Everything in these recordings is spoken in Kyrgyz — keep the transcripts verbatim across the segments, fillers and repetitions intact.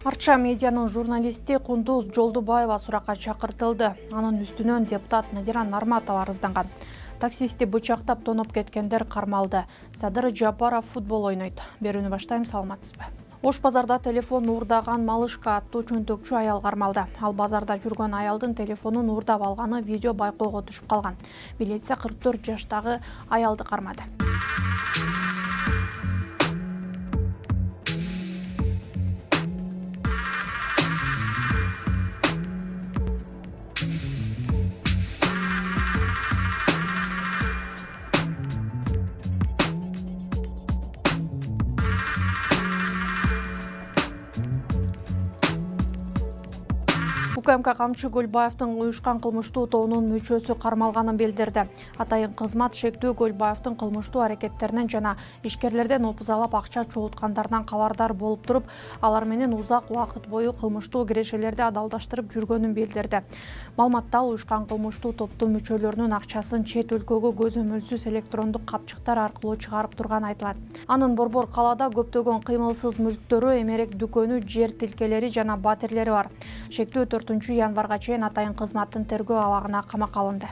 Арча медианын журналисти Кундуз Жолдубаева суракка чакыртылды. Анын үстүнөн депутат Надира Нарматова арызданган. Таксисти бычактап тоноп кеткендер кармалды. Садыр Жапаров футбол ойнойт. Берүүнү баштайм, саламатсызбы? Ош базарда телефон уурдаган Малышка аттуу чөнтөкчү аял кармалды. Ал базарда жүргөн аялдын телефонун уурдап алганы видео байкоого түшүп калган. Милиция кырк төрт жаштагы аялды кармады. УКМК Камчы Көлбаевдин уюшкан кылмыштуу тобунун мүчөсү кармалганын билдирди. Атайын кызмат шектүү Көлбаевдин кылмыштуу аракеттеринен жана ишкерлерден опузалап акча чогулткандарынан кабардар болуп туруп, алар менен узак убакыт бою кылмыштуу кирешелерди адалдаштырып жүргөнүн билдирди. Маалыматта ал уюшкан кылмыштуу топтун мүчөлөрүнүн акчасын чет өлкөгө көзөмөлсүз электрондук капчыктар аркылуу чыгарып турганы айтылат. Анын Борбор калаада көптөгөн кыймылсыз мүлктөрү, эмерек дүкөнү, жер тилкелери жана батирлери бар. Шектүү төртүнчү январга чейин атайын кызматтын тергөө абагына камакка алынды.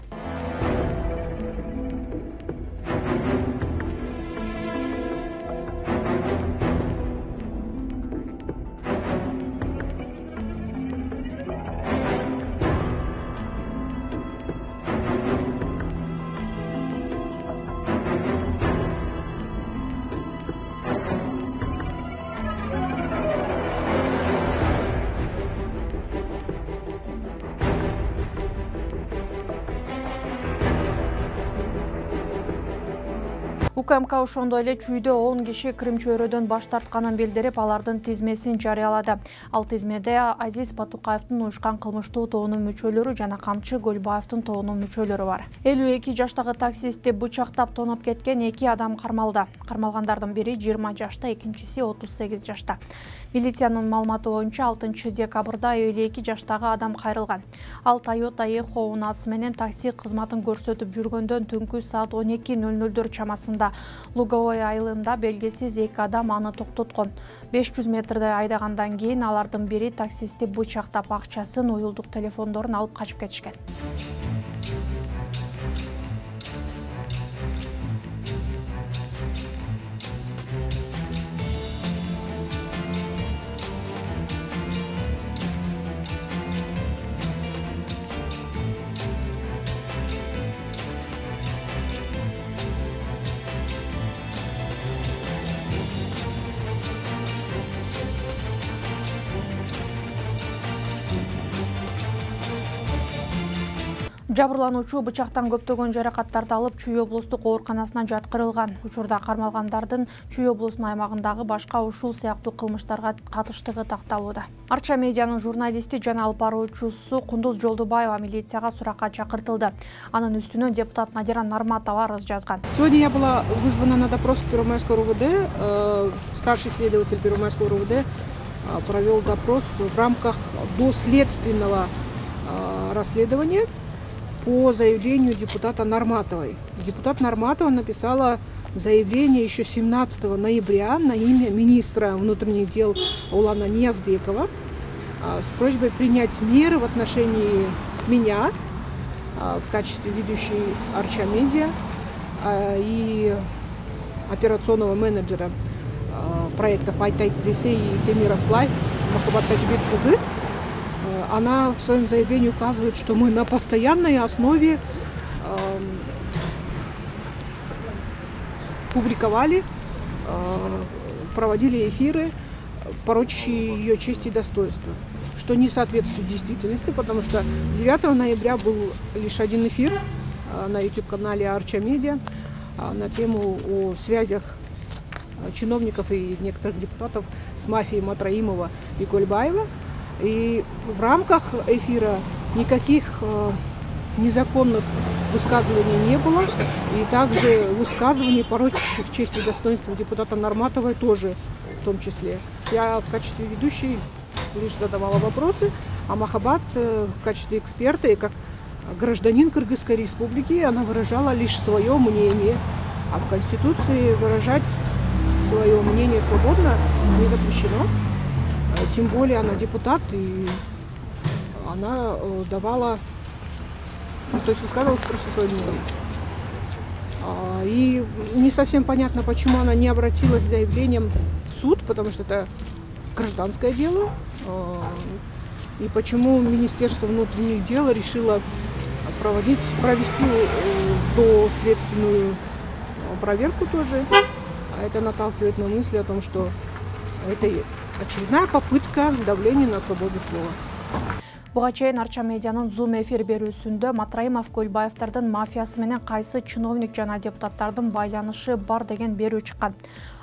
УКМК ошондой эле чүйдө он киши Крим чөйрөдөн баш тартканын билдирип, алардын тизмесин жарыялады. Ал тизмеде Азиз Батукаевдин уюшкан кылмыштуу тобунун мүчөлөрү жана Камчы Көлбаевдин тобунун мүчөлөрү бар. элүү эки жаштагы таксистти бычактап тоноп кеткен эки адам кармалды. Кармалгандардын бири жыйырма жашта, экинчиси отуз сегиз жашта. Милициянын маалыматы боюнча алтынчы декабрда элүү эки жаштагы адам кайрылган. Ал Toyota Echo унаасы менен такси кызматын көрсөтүп жүргөндөн түнкү саат он эки ноль нолдор чамасында Луговой айылында белгисиз эки адам аны токтоткон. беш жүз метрдей айдагандан кийин алардын бири таксисти бычактап акчасын, уюлдук телефондорун алып качып кетишкен. Жабырлануучу бычактан көптөгөн жаракаттарды алып Чүй облустук ооруканасына жаткырылган. Учурда кармалгандардын Чүй облусунун аймагындагы башка ушул сыяктуу кылмыштарга катыштыгы такталууда. Арча медианын журналисти жана алып баруучусу Кундуз Жолдубаева милицияга суракка чакыртылды. Анын үстүнөн депутат Надира Нарматова арыз жазган. Сегодня я была вызвана на допрос в Первомайское РУВД. Старший следователь Первомайского РУВД провел допрос в рамках доследственного расследования по заявлению депутата Нарматовой. Депутат Нарматова написала заявление еще семнадцатого ноября на имя министра внутренних дел Улана Ниязбекова с просьбой принять меры в отношении меня в качестве ведущей Арча Медиа и операционного менеджера проектов Айтайт Ресей и Темиров Лайф Махаббат Тажбек Кызы. Она в своем заявлении указывает, что мы на постоянной основе э, публиковали, э, проводили эфиры, порочащие ее честь и достоинство, что не соответствует действительности, потому что девятого ноября был лишь один эфир э, на YouTube-канале Арча Медиа э, на тему о связях чиновников и некоторых депутатов с мафией Матраимова и Кольбаева. И в рамках эфира никаких э, незаконных высказываний не было. И также высказываний, порочащих честь и достоинство депутата Нарматовой тоже в том числе. Я в качестве ведущей лишь задавала вопросы, а Махаббат э, в качестве эксперта и как гражданин Кыргызской республики она выражала лишь свое мнение. А в Конституции выражать свое мнение свободно не запрещено. тем более она депутат, и она давала, ну, то есть высказывала просто свое мнение. И не совсем понятно, почему она не обратилась с заявлением в суд, потому что это гражданское дело, и почему Министерство внутренних дел решило проводить, провести доследственную проверку тоже. А это наталкивает на мысли о том, что это очередная попытка давления на свободу слова. Буга чейин Арча медианын Zoom эфир берүүсүндө Матраимов Көлбаевдардын мафиясы менен кайсы чиновник жана депутаттардын байланышы бар деген берүү чыккан.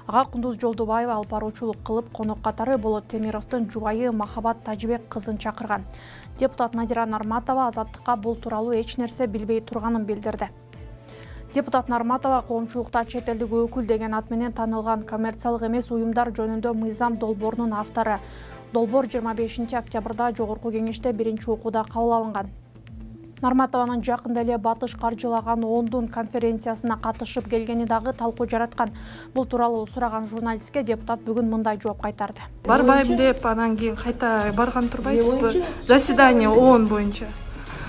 Ага Кундуз Жолдубаева алып баруучулук кылып, конок катары Болот Темировдун жубайы Махабат Тажибек кызын чакырган. Депутат Надира Нарматова Азаттыкка бул тууралуу эч нерсе билбей турганын билдирди. Депутат Нарматова коомчулукта чет элдик өкүл деген ат менен танылган коммерциялык эмес уюмдар жөнүндө мыйзам долбоорунун автору. Долбоор жыйырма бешинчи октябрда жогорку кеңеште биринчи окууда кабыл алынган. Нарматованын жакында эле Батыш каржылаган ондун конференциясына катышып келгени дагы талкуу жараткан. Бул тууралуу сураган журналистке депутат бүгүн мындай жооп кайтарды. Барбайм деп, анан кийин кайта барган турбайсызбы? Заседание ООН боюнча.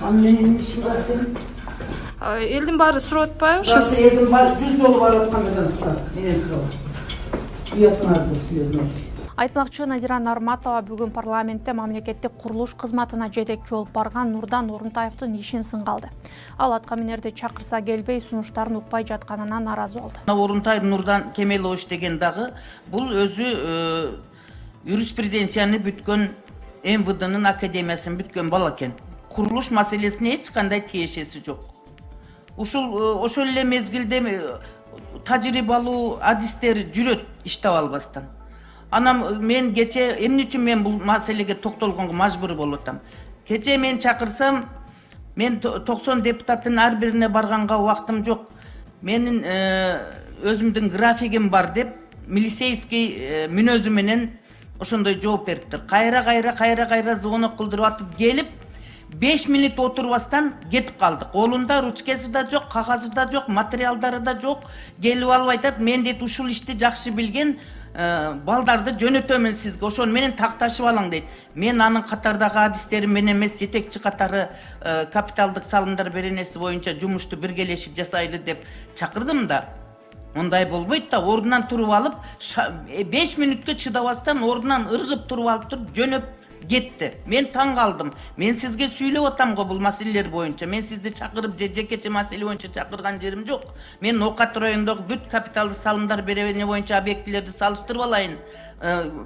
Анын менен иши бар сенин? Элдин баары сурап атпайбы? Ошо элдин баары жүз жолу барып аткандан турат. Менен турат. Уятмар деп силердин. Айтмакчы, Надира Нарматова бүгүн парламентте мамлекеттик курулуш кызматына жетекчи болуп барган Нурдан Орунтаевдин ишин сынга алды. Ал аткаминерди чакырса келбей, сунуштарын укпай жатканына нааразы болду. Орунтаев Нурдан Кемелович деген дагы бул өзү юриспруденцияны бүткөн эм вэ дэнын академиясын бүткөн бала экен. Курулуш маселесине эч кандай тиешеси жок. Ушул ошол эле мезгилде тажрыйбалуу адистер жүрөт иштеп албастан. Анам мен кече эмне үчүн мен бул маселеге токтолгонго мажбур болуп атам. Кече мен чакырсам, мен токсон депутаттын ар бирине барганга убактым жок. Менин өзүмдүн графигим бар деп, милицейский мүнөзү менен ошондой жооп бериптир. Кайра кайра кайра кайра звонок кылдырып атып келип, беш минут отурбастан кетип калдык. Колунда ручкасы да жок, кагаzy да жок, материалдары да жок. Келип алып айтат, мен дейт ушул ишти жакшы билген балдарды жөнөтөмүн сизге, ошону менен такташып алаң дейт. Мен анын катардагы адистерим менен эмес, жетекчи катары капиталдык салымдар беренеси боюнча жумушту биргелешип жасайлы деп чакырдым да. Ондай болбойт да, ордунан туруп алып, беш мүнөткө чыдабастан ордунан ыргып туруп алып туруп жөнөп кетти. Мен таң калдым. Мен сизге сүйлөп атам го бул маселелер боюнча. Мен сизди чакырып жекече маселе боюнча чакырган жерим жок. Мен Окат районундагы бүт капиталдык салымдар беребене боюнча объектилерди салыштырып алайын,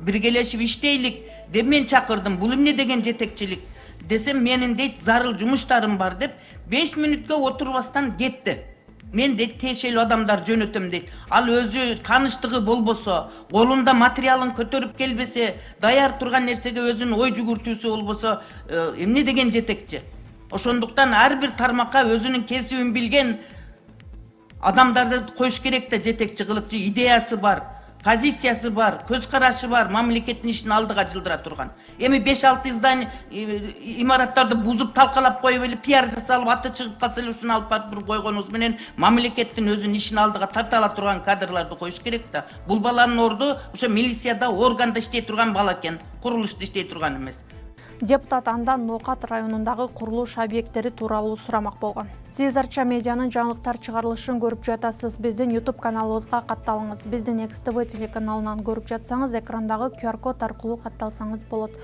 биргелешип иштейлик деп мен чакырдым. Бул эмне деген жетекчилик десем, менин дейт зарыл жумуштарым бар деп беш мүнөткө отурбастан кетти. Мен дейт тиешелүү адамдар жөнөтөм дейт. Ал өзү тааныштыгы болбосо, колунда материалын көтөрүп келбесе, даяр турган нерсеге өзүнүн ой жүгүртүүсү болбосо, эмне деген жетекчи? Ошондуктан ар бир тармакка өзүнүн кесибин билген адамдарды коюш керек да, жетекчи кылып, идеясы бар, позициясы бар, көз карашы бар, мамлекеттин ишин алдыга жылдыра турган. Эми беш алты здание имараттарды бузуп талкалап коюп эле пиар жасалып аты чыгып калса эле ушуну алып барып койгонубуз менен мамлекеттин өзүнүн ишин алдыга тарта ала турган кадрларды коюш керек да. Бул баланын орду ошо милицияда, органда иштей турган бала экен, курулушта иштей турган эмес. Депутат андан Нокат районундагы курулуш объекттери тууралуу сурамак болгон. Сиз Арча медианын жаңылыктар чыгарылышын көрүп жатасыз. Биздин YouTube каналыбызга катталыңыз. Биздин Next T V телеканалынан көрүп жатсаңыз, экрандагы Q R код аркылуу катталсаңыз болот.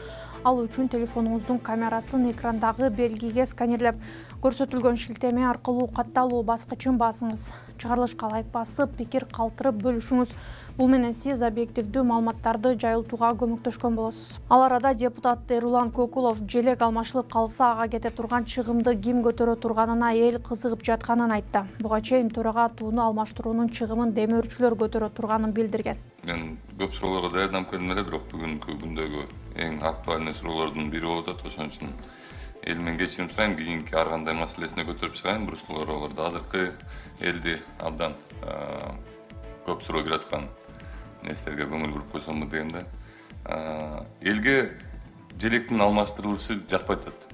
Ал үчүн телефонуңуздун камерасын экрандагы белгиге сканерлеп, көрсөтүлгөн шилтеме аркылуу катталуу баскычын басыңыз. Чыгарылышка лайк басып, пикир калтырып бөлүшүңүз. Бул менен сиз объективдүү маалыматтарды жайылтууга көмөктөшкөн болосуз. Ал арада депутат Эрулан Кокулов желек алмашылып калса, ага кете турган чыгымды ким көтөрө турганына эл кызыгып жатканын айтты. Буга чейин төрага тууну алмаштыруунун чыгымын демөөрчүлөр көтөрө турганын билдирген. Мен көп суроолорго даярданып келдим эле, бирок бүгүнкү күндөгү эң актуальный суроолордун бири болуп атат. Ошон үчүн эл менен кечирим сурайм, кийинки ар кандай маселесине көтөрүп чыгайын. Бир суроолорду азыркы элди абдан көп суроо келип аткан нерселерге көңүл буруп койсомбу дегенде, элге желектин алмаштырылышы жакпай атат.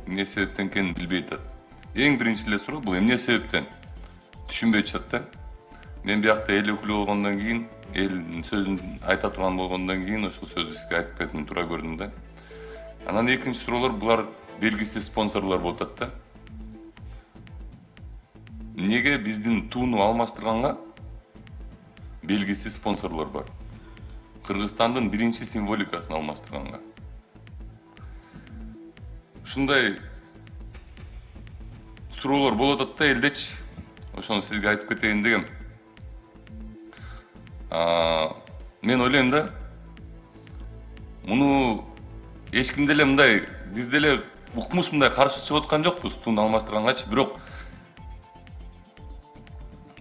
Эмне себептен экенин билбей атат. Эң биринчи эле суроо бул эмне себептен түшүнбөй чыгат да. мен биякта эл өкүлү болгондон кийин, элдин сөзүн айта турган болгондон кийин ушул сөздү сизге айтып кетим туура көрдүм да. Анан экинчи суроолор, булар белгисиз спонсорлор болуп атат да. Неге биздин тууну алмаштырганга белгисиз спонсорлор бар? Кыргызстандын биринчи символикасын алмаштырганга. Ушундай суроолор болуп атат да элдечи. Ошону сизге айтып кетейин дегем. Мен ойлойм да, муну эч ким деле мындай, биз деле укмуш мындай каршы чыгып аткан жокпуз тууну алмаштыргангачы, бирок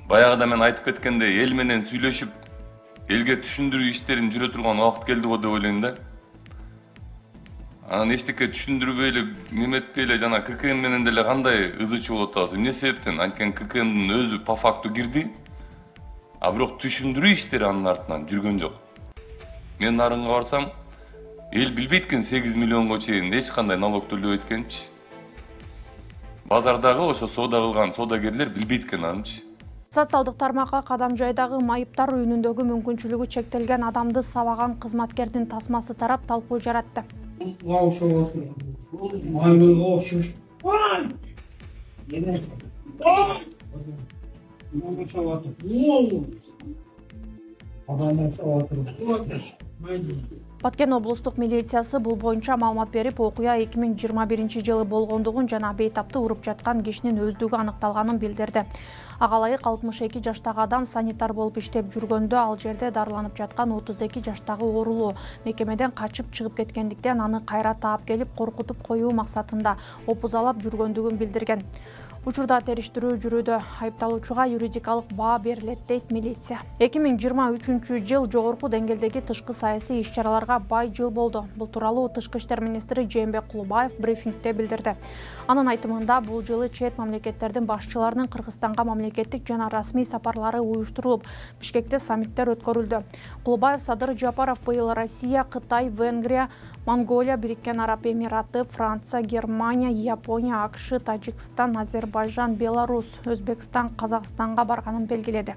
баягыда мен айтып кеткендей, эл менен сүйлөшүп, элге түшүндүрүү иштерин жүрө турган убакыт келди го деп ойлойм да. Анан эчтеке түшүндүрбөй эле, неметпей эле жана ККМ менен деле кандай ызычы болуп атабыз. Эмне себептен? Анткени ККМдин өзү по факту кирди, а бирок түшүндүрүү иштери анын артынан жүргөн жок. Мен нарынга барсам, эл билбейт экен сегиз миллионго чейин эч кандай налог төлөбөйт экенчи. Базардагы ошо соода кылган соодагерлер билбейт экен анычы. Социалдык тармакка кадам жайдагы майыптар үйүнүндөгү мүмкүнчүлүгү чектелген адамды сабаган кызматкердин тасмасы тарап талкуу жаратты. Баткен облустук милициясы бул боюнча маалымат берип, окуя эки миң жыйырма биринчи жылы болгондугун жана бейтапты уруп жаткан кишинин өздүгү аныкталганын билдирди. Агалайык алтымыш эки жаштагы адам санитар болуп иштеп жүргөндө ал жерде дарыланып жаткан отуз эки жаштагы оорулуу мекемеден качып чыгып кеткендиктен аны кайра таап келип коркутуп коюу максатында опузалап жүргөндүгүн билдирген. Учурда териштирүү жүрүүдө, айыпталуучуга юридикалык баа берилет дейт милиция. эки миң жыйырма үчүнчү жыл жогорку деңгээлдеги тышкы саясий иш-чараларга бай жыл болду. Бул тууралуу Тышкы иштер министри Жээнбек Кулубаев брифингде билдирди. Анын айтымында, бул жылы чет мамлекеттердин башчыларынын Кыргызстанга мамлекеттик жана расмий сапарлары уюштурулуп, Бишкекте саммиттер өткөрүлдү. Кулубаев Садыр Жапаров быйыл Россия, Кытай, Венгрия, Монголия, Бириккен Араб Эмираты, Франция, Германия, Япония, АКШ, Тажикстан, Азербайжан, Беларусь, Өзбекстан, Казакстанга барганын белгиледи.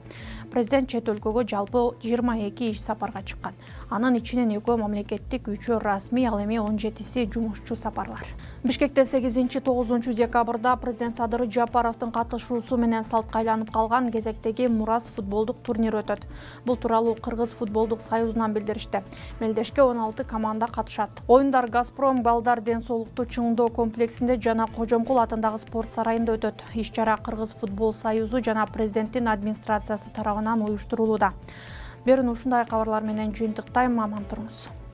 Президент чет өлкөгө жалпы жыйырма эки иш сапарга чыккан. Анын ичинен экөө мамлекеттик, үчөө расмий, ал эми он жетиси жумушчу сапарлар. Бишкекте сегизинчи тогузунчу декабрда президент Садыр Жапаровдун катышуусу менен салтка айланып калган кезектеги Мурас футболдук турнир өтөт. Бул тууралуу Кыргыз футболдук союзунан билдиришти. Мелдешке он алты команда катышат. Оюндар Газпром балдар ден соолукту чыңдоо комплексинде жана Кожомкул атындагы спорт сарайында өтөт. Иш-чара Кыргыз футбол союзу жана президенттин администрациясы тарабынан уюштурулууда. Берүүнү ушундай кабарлар менен жыйынтыктайм, аман туруңуз.